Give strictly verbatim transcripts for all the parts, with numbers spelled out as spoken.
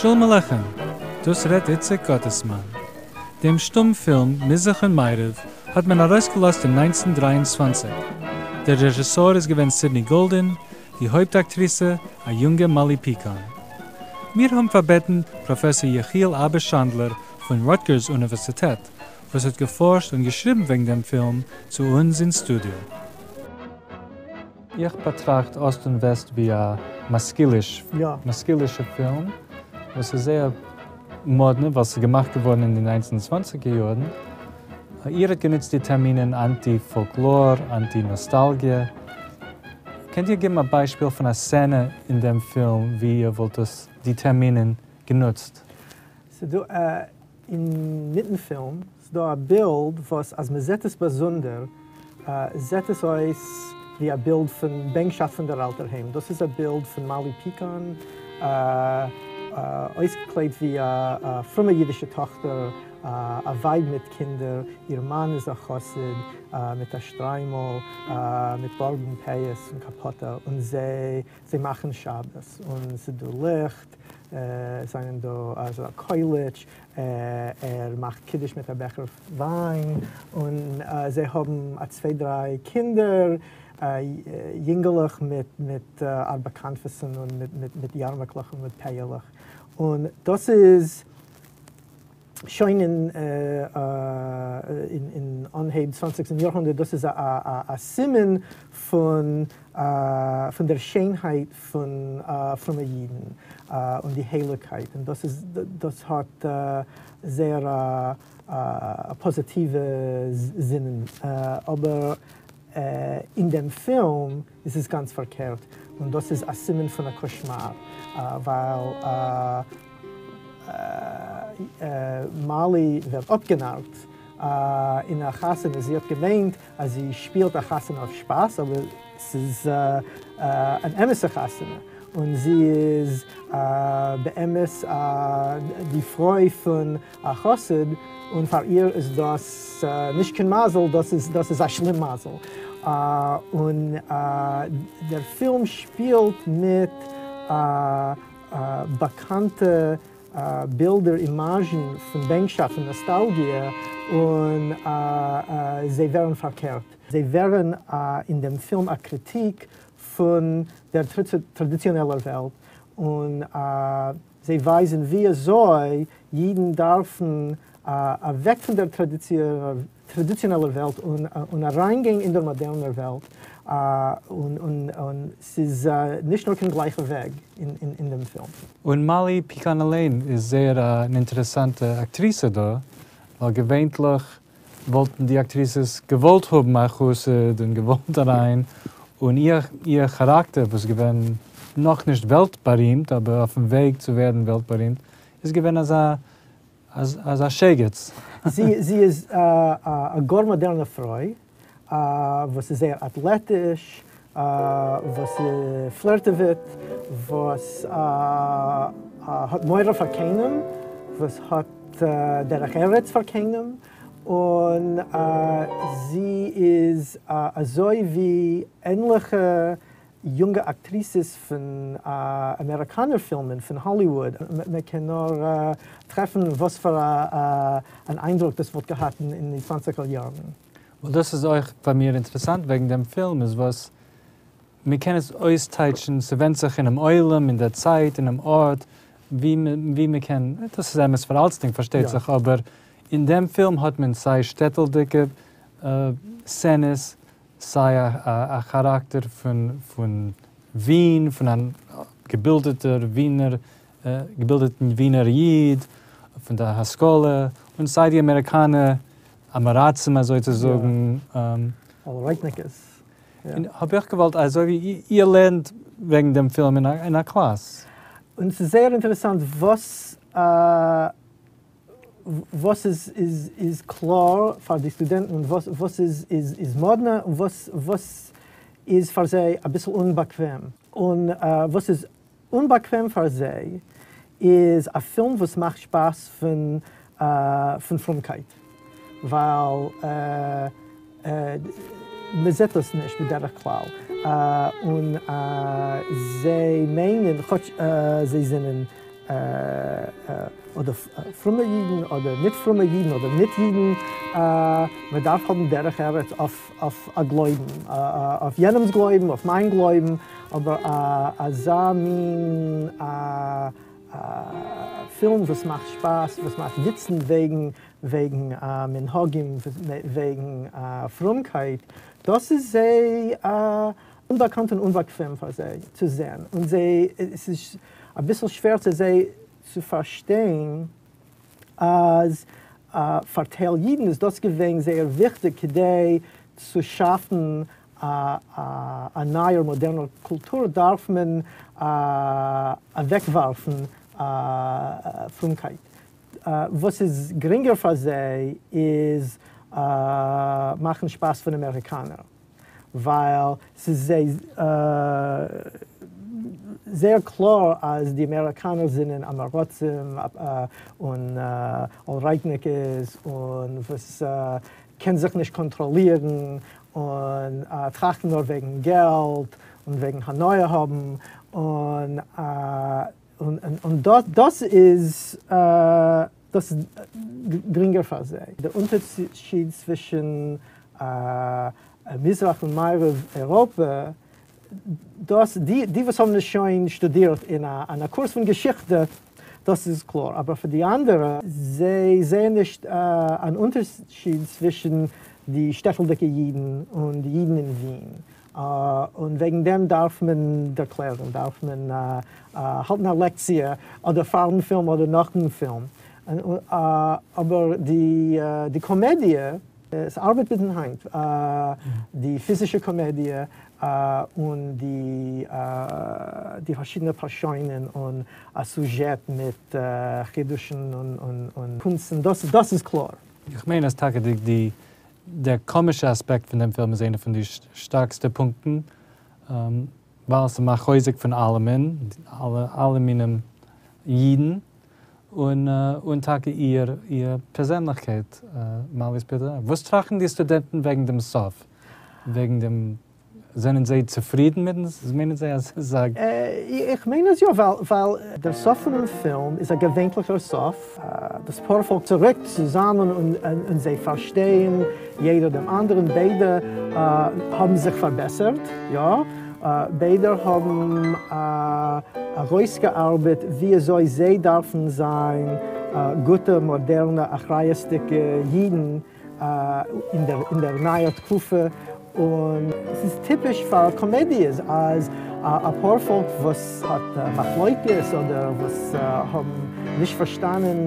שלום עליכם, דאס רעדט איציק גאטעסמאן. דעם שטומפילם מזרח און מערב האט מען ארויסגעלאזט אין נײַנצן דרײַ און צוואַנציק. דער רעזשיסאר איז געווען סידני גאלדין, די הויפט אקטריסע א יונגע מאלי פיקאן. מיר האבן פארבעטן פראפעסאר יחיאל אבא שאנדלער פון רוטגערס אוניווערסיטעט, וואס האט געפארשט און געשריבן וועגן דעם פילם, צו אונז אין סטודיאו. איך באטראכט אסט און וועסט ווי א משכיליש, יא. משכילישע פילם, וואס איז זייער מאדנע, ווייל ס'איז געמאכט געווארן אין די נײַנצן צוואַנציקער יארן. איר האט גענוצט די טערמינען אנטי-פאלקלאר, אנטי-נאסטאלגיע. קענט איר געבן א ביישפיל פון א סצענע אין דעם פילם, ווי איר וואלט דאס, די טערמינען גענוצט? ס'דא אין מיטן פילם, ס'דא א בילד וואס אז מ'זעט עס באזונדער, זעט עס אויס ווי א בילד פון בענקשאפט פון דער אלטער היים. דאס איז א בילד פון מאלי פיקאן, אויסגעקליידט ווי א פרומע אידישע טאכטער, א ווייב מיט קינדער, איר מאן איז א חסיד מיט א שטריימל, מיט בארד און פאות און קאפאטע, און זיי זיי מאכן שבת, און ס'דא ליכט, זענען דא אזא קויליטש, ער מאכט קידוש מיט א בעכער וויין, און זיי האבן א צוויי דריי קינדער, יונגעלעך מיט מיט ארבע כנפות'ן און מיט מיט יארמעקלעך און מיט פאה'לעך, און דאס איז שוין אין אין אנהייב צוואנציגסטן יארהונדערט, דאס איז א סימן פון פון דער שיינהייט פון פרומע אידן און די הייליגקייט, און דאס איז דאס האט זייער א פאזיטיווע זינען, אבער אין דעם פילם איז עס גאנץ פארקערט, און דאס איז א סימן פון א קאשמאר, ווייל מאלי ווערט אפגענארט אין א חתונה, זי האט געמיינט אז זי שפילט א חתונה אויף שפאס, אבער ס'איז אן אמת'ע חתונה, און זי איז באמת די פרוי פון א חסיד, און פאר איר איז דאס נישט קיין מזל, דאס איז דאס איז א שלימזל. און דער פילם שפילט מיט באקאנטע בילדער, אימאזשן פון בענקשאפט און נאסטאלגיע, און זיי ווערן פארקערט. זיי ווערן אין דעם פילם א קריטיק פון דער טראדיציאנעלער וועלט, און זיי ווייזן ווי אזוי אידן דארפן אוועק פון דער טראדיציאנעלער וועלט און אריינגיין אין דער מאדערנער וועלט, און ס'איז נישט נאר קיין גלייכע וועג אין דעם פילם. און מאלי פיקאן אליין איז זייער אן אינטערעסאנטע אקטריסע דא, ווייל געווענטליך וואלטן די אקטריסעס געוואלט האבן א חסיד און געוואלט אריין, און איר איר כאראקטער וואס איז געווען נאך נישט וועלט בארימט, אבער אויפן וועג צו ווערן וועלט בארימט, איז געווען אזא אזא שייגעץ. זי זי איז א גאר מאדערנע פרוי, וואס איז זייער אטלעטיש, וואס פלירטעוועט, וואס האט מורא פאר קיינעם, וואס האט דרך ארץ פאר קיינעם, און זי איז אזוי ווי ענליכע יונגע אקטריסעס פון אמעריקאנער פילמען, פון האליוואוד. מען קען נאר טרעפן וואס פאר אן איינדרוק דאס וואלט געהאט אין די צוואנציגער יארן. און דאס איז אויך פאר מיר אינטערעסאנט וועגן דעם פילם, איז וואס מען קען עס אויסטייטשן, ס'ווענדט זיך אינעם עולם, אין דער צייט, אינעם ארט, ווי מען קען, דאס איז אמת פאר אלצדינג פארשטייט זיך, אבער אין דעם פילם האט מען סיי שטעטלדיגע סצענעס, סיי א כאראקטער פון ווין, פון אן געבילדעטער ווינער, געבילדעטן ווינער איד, פון דער השכלה, און סיי די אמעריקאנער עם-הארצים אזוי צו זאגן. אלרייטניקעס. און האב איך געוואלט, אזוי ווי איר לערנט וועגן דעם פילם אין א קלאס. און ס'איז זייער אינטערעסאנט וואס וואס איז איז קלאר פאר די סטודענטן און וואס איז איז מאדנע און וואס וואס איז פאר זיי אביסל אומבאקוועם. און וואס איז אומבאקוועם פאר זיי איז א פילם וואס מאכט שפאס פון פון פרומקייט, ווייל מען זעט דאס נישט בדרך כלל, און זיי מיינען, כאטש זיי זענען אָדער פֿרומע ייִדן, אָדער ניט פֿרומע ייִדן, אָדער ניט ייִדן, מע דאַרף האָבן דרך־ארץ אויף, אויף אַ גלויבן, אויף יענעמס גלויבן, אויף מײַן גלויבן, אָבער אַזאַ מין פֿילם, וואָס מאַכט שפּאַס, וואָס מאַכט וויצן וועגן, וועגן מנהגים, וועגן פֿרומקייט, דאָס איז זיי אומבאַקאַנט און אומבאַקוועם פֿאַר זיי צו זען. און זיי, עס איז אַ ביסל שווער צו זיי צו פֿאַרשטיין, אַז פֿאַר טייל ייִדן איז דאָס געווען זייער וויכטיק, כּדי צו שאַפֿן אַ, אַ, אַ נײַער מאָדערנער קולטור, דאַרף מען אַוועקוואַרפֿן פֿרומקייט. וואָס איז גרינגער פֿאַר זיי, איז מאַכן שפּאַס פֿון אַמעריקאַנער, ווײַל ס'איז זיי זייער קלאָר, אַז די אַמעריקאַנער זענען עם־הארצים און אָלרײַטניקעס און וואָס קען זיך נישט קאָנטראָלירן און טראַכטן נאָר וועגן געלט און וועגן הנאה האָבן און, און, און דאָס, דאָס איז, דאָס איז גרינגער פֿאַר זיי. דער אונטערשייד צווישן מיזרח און מערבֿ־אייראָפּע, דאָס, די, די, וואָס האָבן עס שוין שטודירט אין אַ, אין אַ קורס פֿון געשיכטע, דאָס איז קלאָר. אָבער פֿאַר די אַנדערע, זיי זעען נישט אַן אונטערשייד צווישן די שטעטלדיקע ייִדן און די ייִדן אין ווין. און וועגן דעם דאַרף מען דערקלערן, דאַרף מען האַלטן אַ לעקציע אָדער פֿאַרן פֿילם אָדער נאָך דעם פֿילם. אָבער די, די קאָמעדיע, עס אַרבעט ביז הײַנט. די פֿיזישע קאָמעדיע און די, די פֿאַרשיידענע פּאַרשוינען און אַ סוזשעט מיט חידושים און, און, און קונצן, דאָס, דאָס איז קלאָר. איך מיין, אַז טאַקע די, די, דער קאָמישער אַספּעקט פֿון דעם פֿילם איז איינער פֿון די שטאַרקסטע פּונקטן, ווײַל עס מאַכט חוזק פֿון אַלעמען, אַלע, אַלע מינים ייִדן און, און טאַקע איר, איר פּערזענלעכקייט, מאַליס פּיטער. וואָס טראַכטן די סטודענטן וועגן דעם סוף? וועגן דעם, זענען זיי צופֿרידן מיט דעם? מיינען זיי, אַז זיי זאָגן? איך מיין עס יאָ, ווײַל, ווײַל דער סוף פֿון דעם פֿילם איז אַ געוויינטלעכער סוף. דאָס פּאָרפֿאָלק צוריק צוזאַמען און, און זיי פֿאַרשטייען יעדער דעם אַנדערן. ביידע האָבן זיך פֿאַרבעסערט, יאָ. ביידע האָבן אַרויסגעאַרבעט, ווי אַזוי זיי דאַרפֿן זײַן גוטע, מאָדערנע, אַחריותדיקע ייִדן אין דער, אין דער נײַער תּקופֿה. און עס איז טיפּיש פֿאַר קאָמעדיעס, אַז אַ פּאָרפֿאָלק, וואָס האָט מחלוקת אָדער וואָס האָבן נישט פֿאַרשטאַנען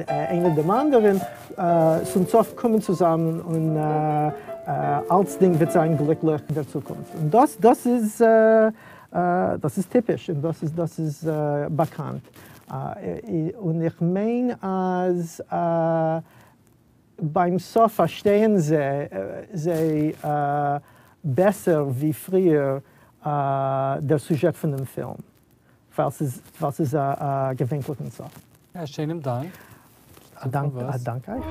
איינער דעם אַנדערן, צום סוף קומען צוזאַמען און אַלצדינג וועט זײַן גליקלעך אין דער צוקונפֿט. און דאָס, דאָס איז, דאָס איז טיפּיש און דאָס איז, דאָס איז באַקאַנט. און איך מיין, אַז בײַם סוף פֿאַרשטייען זיי, זיי בעסער ווי פֿריִער דער סוזשעט פֿון דעם פֿילם, ווײַל ס'איז, ווײַל ס'איז אַ געוויינטלעכן סוף. אַ שיינעם דאַנק. אַ דאַנק, אַ דאַנק אײַך.